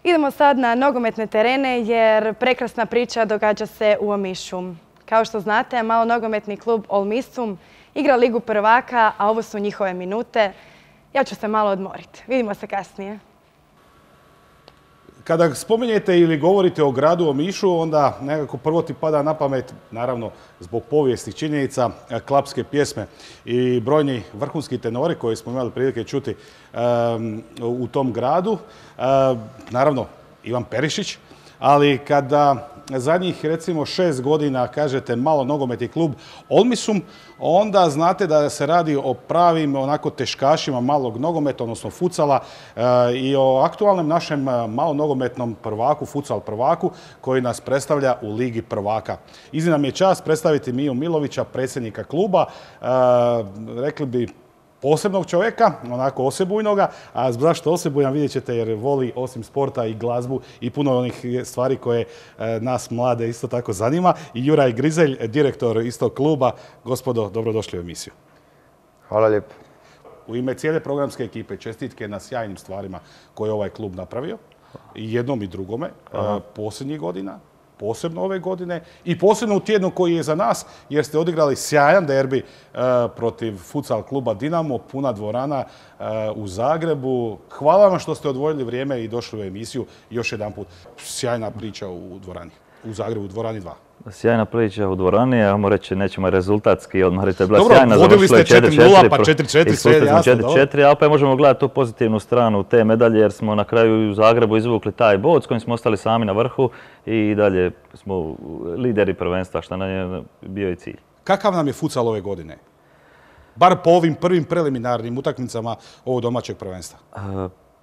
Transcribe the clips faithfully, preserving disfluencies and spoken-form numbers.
Idemo sad na nogometne terene jer prekrasna priča događa se u Omišu. Kao što znate, malo nogometni klub Olmisum igra Ligu prvaka, a ovo su njihove minute. Ja ću se malo odmoriti. Vidimo se kasnije. Kada spominjete ili govorite o gradu Omišu, onda nekako prvo ti pada na pamet, naravno zbog povijesnih činjenica, klapske pjesme i brojni vrhunski tenori koje smo imali prilike čuti um, u tom gradu. Um, naravno, Ivan Perišić, ali kada zadnjih recimo šest godina kažete malo nogometni klub Olmisum, onda znate da se radi o pravim onako teškašima malog nogometa, odnosno futsala e, i o aktualnom našem malo nogometnom prvaku, futsal prvaku, koji nas predstavlja u Ligi prvaka. Iznimna mi je čast predstaviti Miju Milovića, predsjednika kluba, e, rekli bi posebnog čovjeka, onako osebujnoga, a zašto osebujan vidjet ćete jer voli osim sporta i glazbu i puno onih stvari koje e, nas mlade isto tako zanima. I Juraj Grizelj, direktor istog kluba. Gospodo, dobrodošli u emisiju. Hvala lijepo. U ime cijele programske ekipe čestitke na sjajnim stvarima koje je ovaj klub napravio. I jednom i drugome, e, posljednjih godina. Posebno ove godine i posebno u tjednu koji je za nas, jer ste odigrali sjajan derbi e, protiv futsal kluba Dinamo, puna dvorana e, u Zagrebu. Hvala vam što ste odvojili vrijeme i došli u emisiju. Još jedan put, sjajna priča u dvorani, u Zagrebu, u dvorani dva. Sjajna priča u dvorani, ajmo reći, nećemo rezultatski odmoriti. Bila Dobro, sjajna, vodili ste četiri nula, pa četiri četiri, sve je jasno. četiri četiri, a opet možemo gledati tu pozitivnu stranu te medalje, jer smo na kraju u Zagrebu izvukli taj bod s kojim smo ostali sami na vrhu i dalje smo lideri prvenstva, što nam je bio i cilj. Kakav nam je futsal ove godine? Bar po ovim prvim preliminarnim utakmicama ovog domaćeg prvenstva.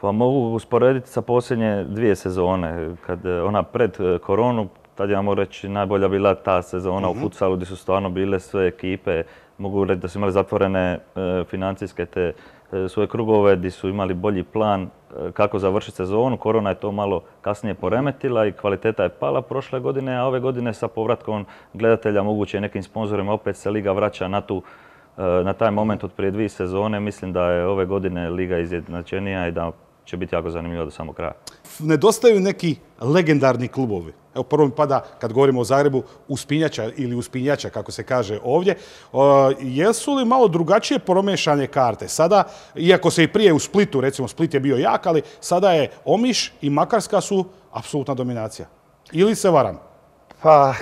Pa mogu usporediti sa posljednje dvije sezone, kad ona pred koronu. Tad ja mogu reći najbolja bila ta sezona mm-hmm. u futsalu gdje su stvarno bile sve ekipe. Mogu reći da su imali zatvorene e, financijske te e, svoje krugove gdje su imali bolji plan e, kako završiti sezonu. Korona je to malo kasnije poremetila i kvaliteta je pala prošle godine, a ove godine sa povratkom gledatelja moguće nekim sponzorima opet se Liga vraća na, tu, e, na taj moment od prije dvije sezone. Mislim da je ove godine Liga izjednačenija i da će biti jako zanimljivo do samog kraja. Nedostaju neki legendarni klubovi. Evo prvo mi pada, kad govorimo o Zagrebu, uspinjača ili uspinjača, kako se kaže ovdje. O, jesu li malo drugačije promješane karte? Sada, iako se i prije u Splitu, recimo Split je bio jak, ali sada je Omiš i Makarska su apsolutna dominacija. Ili se varam? Pa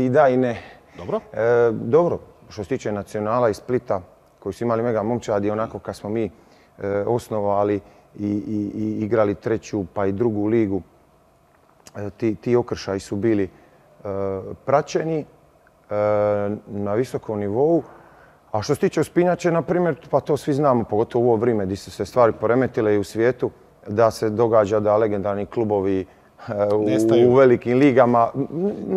i da i ne. Dobro? E, dobro, što se tiče Nacionala i Splita, koji su imali mega momčadi, onako kad smo mi e, osnovali i, i, i igrali treću pa i drugu ligu, Ti, ti okršaji su bili e, praćeni e, na visokom nivou. A što se tiče uspinjače, na primjer, pa to svi znamo, pogotovo u ovo vrijeme gdje su se stvari poremetile i u svijetu, da se događa da legendarni klubovi u, u velikim ligama.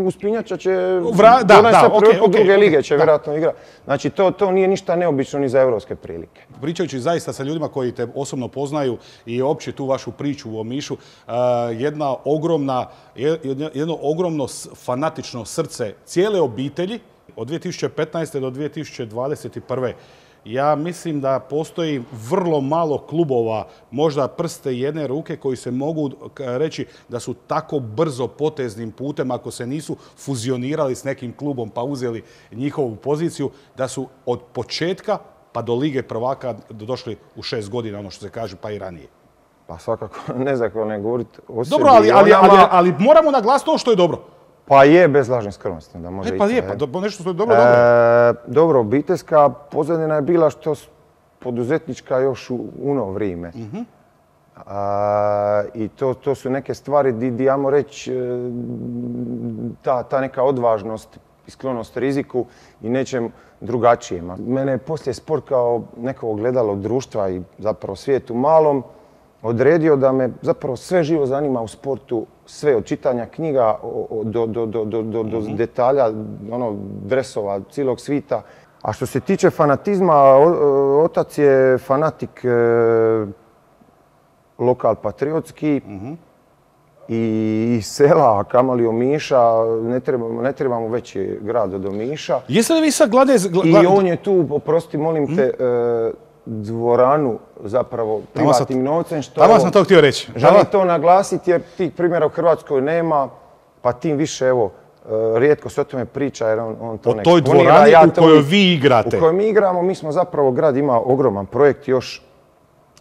Uspinjača će Vra, da, donese da, okay, okay, druge lige, će da. vjerojatno igrati. Znači, to, to nije ništa neobično ni za evropske prilike. Pričajući zaista sa ljudima koji te osobno poznaju i opće tu vašu priču u Omišu, jedna ogromna, jedno ogromno fanatično srce cijele obitelji od dvije tisuće petnaeste do dvije tisuće dvadeset prve. Ja mislim da postoji vrlo malo klubova, možda prste jedne ruke, koji se mogu reći da su tako brzo poteznim putem, ako se nisu fuzionirali s nekim klubom pa uzeli njihovu poziciju, da su od početka pa do Lige prvaka došli u šest godina, ono što se kaže, pa i ranije. Pa svakako, ne znam kako ne govoriti o sebi. Dobro, ali, ali, ali, ali moramo naglasiti ono što je dobro. Pa je, bez lažne skromnosti. Da može e, pa ići, je, pa do, nešto što je dobro, dobro. E, dobro, obiteljska pozadina je bila što poduzetnička još u ono vrijeme. Mm-hmm. A, I to, to su neke stvari gdje, ajmo reći, ta, ta neka odvažnost i sklonost riziku i nečem drugačijem. Mene je poslije sport kao neko ogledalo društva i zapravo svijetu malom odredio da me zapravo sve živo zanima u sportu, sve od čitanja knjiga do, do, do, do, do, do mm-hmm. detalja, ono, dresova, cijelog svita. A što se tiče fanatizma, otac je fanatik e, lokal patriotski mm-hmm. i iz sela, kamoli Omiša, ne trebamo, ne trebamo veći grad od Omiša. Jeste li vi sad glade... Gla... I on je tu, oprosti, molim te, mm-hmm. e, dvoranu zapravo privatnim novcem. Tamo sam to htio reći. Želim to naglasiti jer tih primjera u Hrvatskoj nema, pa tim više, evo, rijetko se o tome priča jer on, on to ne eksponira. O toj dvorani ja u kojoj vi igrate. U kojoj mi igramo, mi smo zapravo, grad ima ogroman projekt još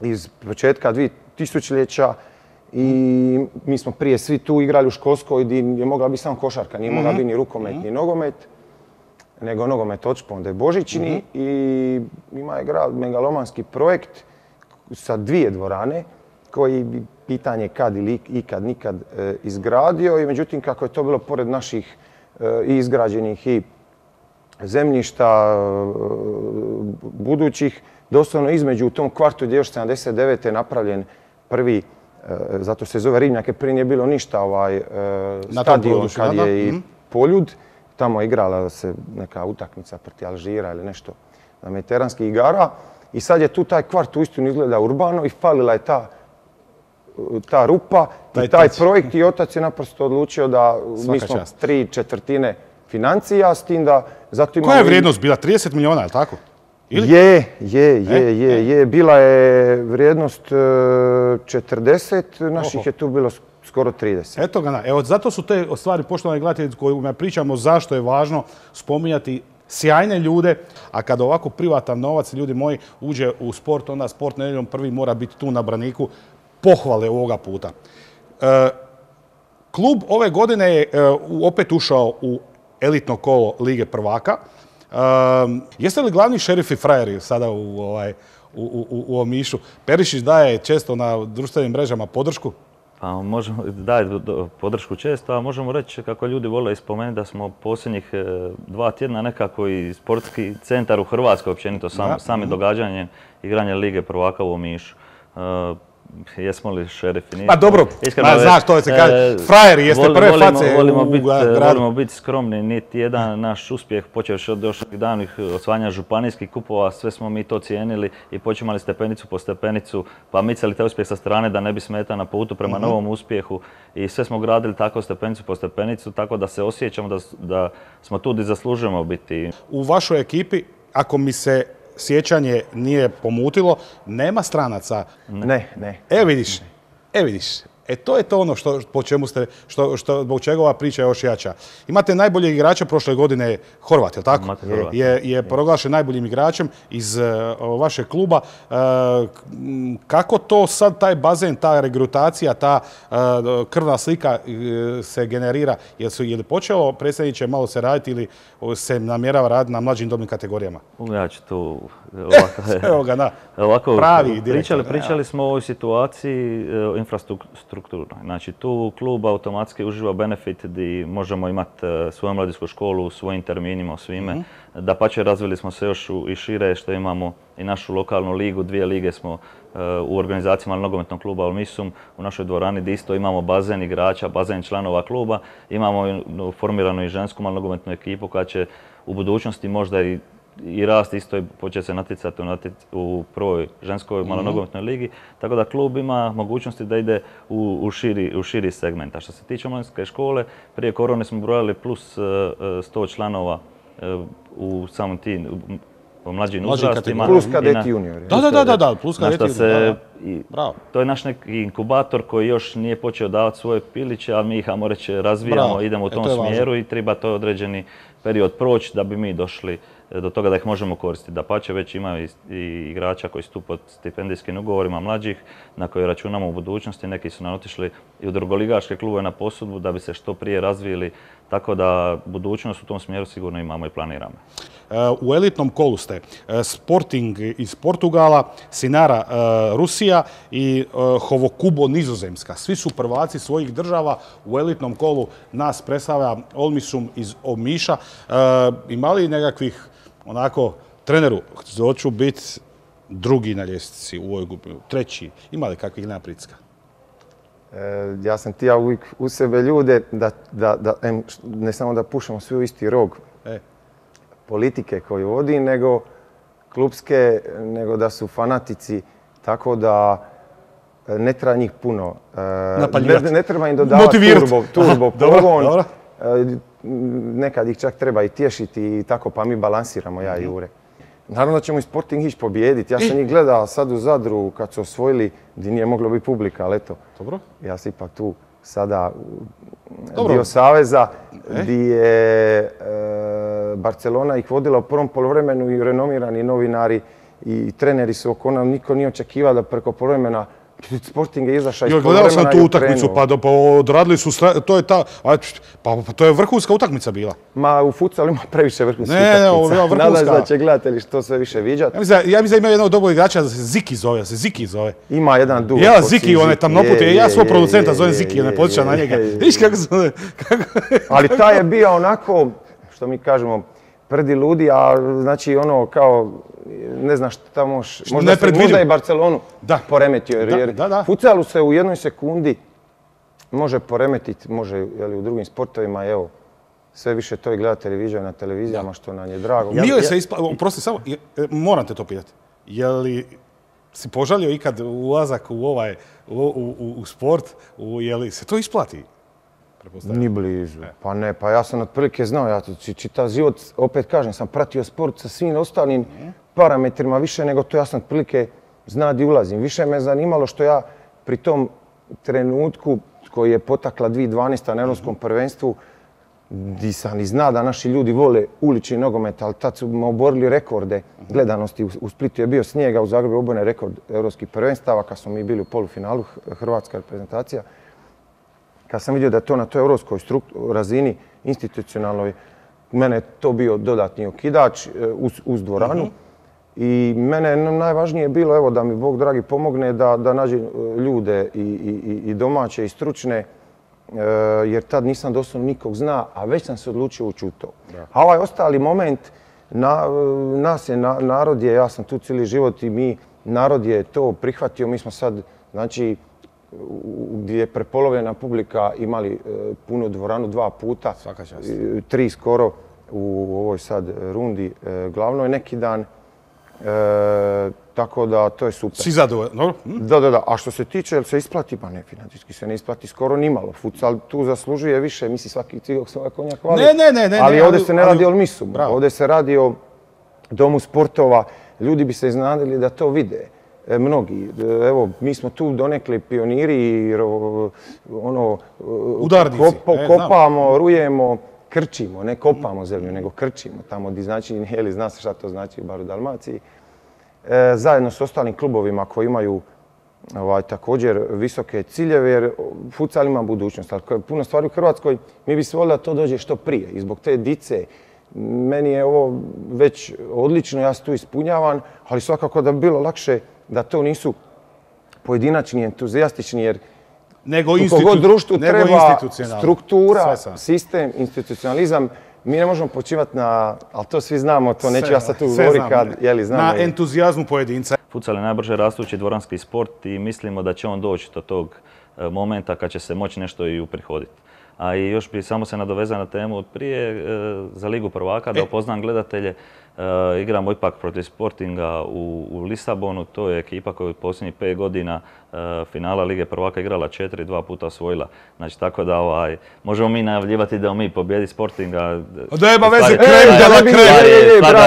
iz početka dvitisućljeća i mi smo prije svi tu igrali u školskoj gdje je mogla biti samo košarka, nije mogla biti ni rukomet, ni nogomet, nego nogomet odšponde Božićni i ima je grad megalomanski projekt sa dvije dvorane koji bi pitanje kad ili ikad nikad izgradio i međutim kako je to bilo pored naših i izgrađenih i zemljišta budućih, doslovno između u tom kvartu gdje je još sedamdeset devete napravljen prvi, zato se zove Ribnjak, jer prije nije bilo ništa, ovaj stadion kad je i Poljud. Tamo je igrala se neka utakmica protiv Alžira ili nešto na mediteranskih igara. I sad je tu taj kvart uistinu izgleda urbano i falila je ta, ta rupa i taj projekt i otac je naprosto odlučio da mi smo tri četvrtine financija s tim da zato imamo... Koja je vrijednost bila? trideset milijuna, je li tako? Ili? Je, je, je, je, je. Bila je vrijednost četrdeset, naših je tu bilo skoro trideset. Eto ga, evo zato su te stvari, poštovani gledatelji, kojima pričamo zašto je važno spominjati sjajne ljude, a kada ovako privatan novac, ljudi moji, uđe u sport, onda Sport nedjeljom prvi mora biti tu na braniku pohvale ovoga puta. E, klub ove godine je e, opet ušao u elitno kolo Lige prvaka. E, jeste li glavni šerifi frajeri sada u, ovaj, u, u, u Omišu? Perišić daje često na društvenim mrežama podršku? Pa možemo, daje podršku često, a možemo reći kako ljudi vole ispomenuti da smo posljednjih dva tjedna nekako i sportski centar u Hrvatskoj općenito sam, sami događanje igranja Lige prvaka u Omišu. Uh, jesmo li šerifi? Pa dobro, ma, znaš to se kaže, frajeri jeste vol, prve volimo, face volimo u, bit, u gradu. Volimo biti skromni, niti jedan naš uspjeh, počevši od još davnih osvajanja županijskih kupova, sve smo mi to cijenili i počimali stepenicu po stepenicu, pa micali taj uspjeh sa strane da ne bi smetao na putu prema uh-huh. novom uspjehu i sve smo gradili tako stepenicu po stepenicu, tako da se osjećamo da, da smo tu gdje zaslužujemo biti. U vašoj ekipi, ako mi se sjećanje nije pomutilo, nema stranaca. Ne, ne. E vidiš, e vidiš. E to je to ono što, po čemu ste, što, što, zbog čega ova priča je još jača. Imate najboljeg igrača prošle godine, Horvat, je li tako? Horvat. Je, je proglašen najboljim igračem iz uh, vašeg kluba. Uh, kako to sad taj bazen, ta regrutacija, ta uh, krvna slika uh, se generira? Je, su, je li počelo, predsjedniče, malo se raditi ili se namjerava raditi na mlađim dobnim kategorijama? Ja ću tu ovako, Evo ga, da. Ovako, pravi direktor. Pričali, pričali smo o ovoj situaciji uh, infrastrukturno. Znači tu klub automatski uživa benefit gdje možemo imati uh, svoju mladinsku školu u svojim terminima, svime. Mm-hmm. Dapače, razvili smo se još u, i šire što imamo i našu lokalnu ligu, dvije lige smo uh, u organizacijama nogometnog kluba Olmisum u našoj dvorani gdje isto imamo bazen igrača, bazen članova kluba. Imamo i, formiranu i žensku nogometnu ekipu koja će u budućnosti možda i i rast isto i početi se natjecati u prvoj ženskoj malonogometnoj ligi. Tako da klub ima mogućnosti da ide u, u, širi, u širi segment. A što se tiče mladinske škole, prije korone smo brojali plus sto članova u samom tim u mlađim uzrastima. Plus kadeti juniori. Da, da, da, da, plus kadeti juniori. Bravo. To je naš neki inkubator koji još nije počeo davati svoje piliće, ali mi ih, ajmo reći, razvijamo, bravo. Idemo u tom e, smjeru i treba to određeni period proći da bi mi došli do toga da ih možemo koristiti. Dapače, već imaju i igrača koji su tu pod stipendijskim ugovorima mlađih na koje računamo u budućnosti. Neki su nam otišli i u drugoligaške klubove na posudbu da bi se što prije razvili. Tako da budućnost u tom smjeru sigurno imamo i planiramo. U elitnom kolu ste Sporting iz Portugala, Sinara Rusija i Hovokubo Nizozemska. Svi su prvaci svojih država. U elitnom kolu nas predstavlja Olmisum iz Omiša. Ima li nekakvih onako, treneru, hoću biti drugi na ljestvici u ovoj grupi, treći, ima li kakvih nema pritiska? E, ja sam tija uvijek u sebe ljude da, da, da em, ne samo da pušamo svi u isti rog e. politike koju vodi, nego klubske, nego da su fanatici, tako da ne treba njih puno. E, ne, ne treba im dodavati turbo, turbo pogon. Dobro, dobro. Nekad ih čak treba i tješiti i tako, pa mi balansiramo, ja i Jure. naravno da ćemo i Sporting ići pobijediti. Ja sam njih gledao sad u Zadru kad su osvojili, gdje nije moglo biti publika, ali eto. Dobro. Ja sam ipak tu sada dio Saveza, gdje je Barcelona ih vodila u prvom poluvremenu i renomirani novinari i treneri su oko nas. Niko nije očekivao da preko poluvremena Sporting je izašao iz poluvremena i gledao sam tu utakmicu, pa odradili su, to je ta, pa to je vrhunska utakmica bila. Ma u futsalu ima previše vrhunskih utakmica. Ne, ovo je vrhunska. Nadam se da će gledatelji što sve više viđati. Ja mislim da ima jednog dobrog igrača da se Ziki zove, da se Ziki zove. Ima jedan duo. Ja, Ziki, on je tamnoput, ja svog producenta zovem Ziki, ne potičam na njega. Viš kako se zove? Ali taj je bio onako, što mi kažemo, prdi ludi, a znači ono kao, ne znaš šta tamo, možda, možda i Barcelonu poremetio. Jer futsalu se u jednoj sekundi može poremetiti, može u drugim sportovima, evo, sve više to i gledatelji viđaju na televizijama, što nam je drago. Nije se isplatio, oprosti samo, moram te to pitati, je li si požalio ikad ulazak u ovaj, u sport, je li se to isplati? Ni blizu. Pa ne, pa ja sam otprilike znao, ja čitav život, opet kažem, sam pratio sport sa svim ostalim parametrima više nego to, ja sam otprilike zna di ulazim. Više me zanimalo što ja pri tom trenutku koji je potakla dvije tisuće dvanaeste. na Europskom prvenstvu, di sam i zna da naši ljudi vole ulični nogomet, ali tad su oborili rekorde gledanosti. U Splitu je bio snijega, u Zagrebu je oboren rekord Europskih prvenstava, kad smo mi bili u polufinalu, hrvatska reprezentacija. Kad sam vidio da je to na toj europskoj razini, institucionalnoj, mene je to bio dodatni okidač uz dvoranu. I mene najvažnije je bilo evo, da mi Bog dragi pomogne da, da nađem ljude i, i, i domaće i stručne, jer tad nisam doslovno nikog zna, a već sam se odlučio ući u to. A ovaj ostali moment, na, nas je, na, narod je, ja sam tu cijeli život i mi, narod je to prihvatio, mi smo sad, znači, gdje je prepolovljena publika imali punu dvoranu dva puta, tri skoro u ovoj sad rundi glavnoj neki dan. E, tako da to je super. Si zadovoljan, dobro? Da, da, da. A što se tiče, jel se isplati? Pa ne, financijski se ne isplati skoro nimalo. Futsal tu zaslužuje više, misli svaki cigog svoja konja hvali. Ne, ne, ne, ne. Ali ovdje se ne radi o misu. Ovdje se radi o domu sportova. Ljudi bi se iznadili da to vide. Mnogi. Evo, mi smo tu donekli pioniri i ono... Udarnici. Kopamo, rujemo, krčimo. Ne kopamo zemlju, nego krčimo. Tamo gdje znači, jeli, zna se šta to znači, bar u Dalmaciji. Zajedno s ostalim klubovima koji imaju također visoke ciljeve, jer futsal ima budućnost. Ali puno stvari u Hrvatskoj, mi bi se volili da to dođe što prije. I zbog te dice, meni je ovo već odlično, ja se tu ispunjavam, ali svakako da bi bilo lakše da to nisu pojedinačni, entuzijastični, jer nego u kogod društvu treba struktura, sistem, institucionalizam. Mi ne možemo počivati na, ali to svi znamo, to neću ja sad tu govoriti kad, jeli, znamo. Na entuzijazmu pojedinca. Futsal je najbrže rastući dvoranski sport i mislimo da će on doći do tog momenta kad će se moći nešto i uprihoditi. A i još bi samo se nadovezao na temu od prije za Ligu prvaka, da upoznam gledatelje. Igramo ipak protiv Sportinga u Lisabonu. To je ekipa koja je u posljednjih pet godina finala Lige prvaka igrala četiri, dva puta osvojila. Znači, tako da ovaj, možemo mi najavljivati da mi pobjedi Sportinga. Da ima veze, krem, da da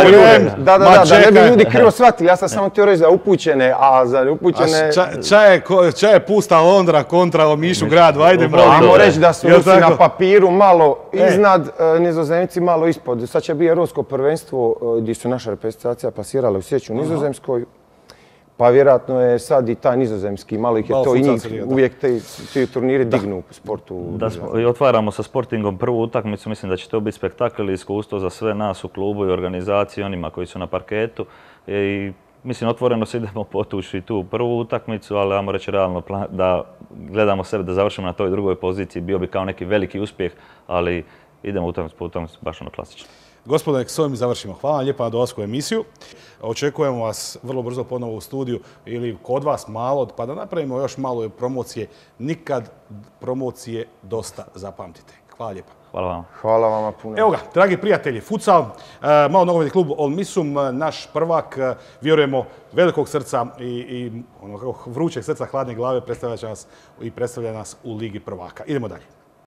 krem. Da, da, da, da ne bi ljudi krivo shvatili. Ja sam samo htio reći za upućene, a za neupućene... Ča je pusta Londra kontra Omišu grad, vajde. Ajmo reći da su Rusi na papiru malo iznad, Nizozemci malo ispod. Sad će biti Europsko prvenstvo gdje su naša reprezentacija pasirala u Sjeću u Nizozemskoj. Pa vjerojatno je sad i taj nizozemski, malo ih je to i njih, uvijek ti turniri dignu u sportu. I otvaramo sa Sportingom prvu utakmicu, mislim da će to biti spektakl i iskustvo za sve nas u klubu i organizaciji, onima koji su na parketu. I mislim, otvoreno se idemo potući tu prvu utakmicu, ali ajmo reći realno da gledamo sebe da završimo na toj drugoj poziciji, bio bi kao neki veliki uspjeh, ali idemo utakmicu po utakmicu baš ono klasično. Gospodine, s ovim završimo. Hvala vam lijepa na dolasku u emisiju. Očekujemo vas vrlo brzo ponovo u studiju ili kod vas malo, pa da napravimo još malo promocije. Nikad promocije dosta, zapamtite. Hvala lijepa. Hvala vam. Hvala vama puno. Evo ga, dragi prijatelji, futsal, malo nogometni klub Olmisum, naš prvak, vjerujemo, velikog srca i vrućeg srca, hladne glave, predstavlja nas i predstavlja nas u Ligi prvaka. Idemo dalje.